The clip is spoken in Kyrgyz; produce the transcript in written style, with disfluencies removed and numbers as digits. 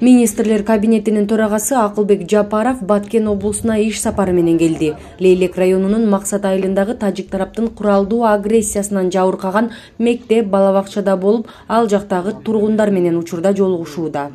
Министрлер кабинетинин төрагасы Акылбек Жапаров Баткен облусуна иш сапары менен келди. Лейлек районунун Максат айылындагы тажик тараптын куралдуу агрессиясынан жабыркаган мектеп бала бакчада болуп, ал жактагы тургундар менен учурда жолугушууда.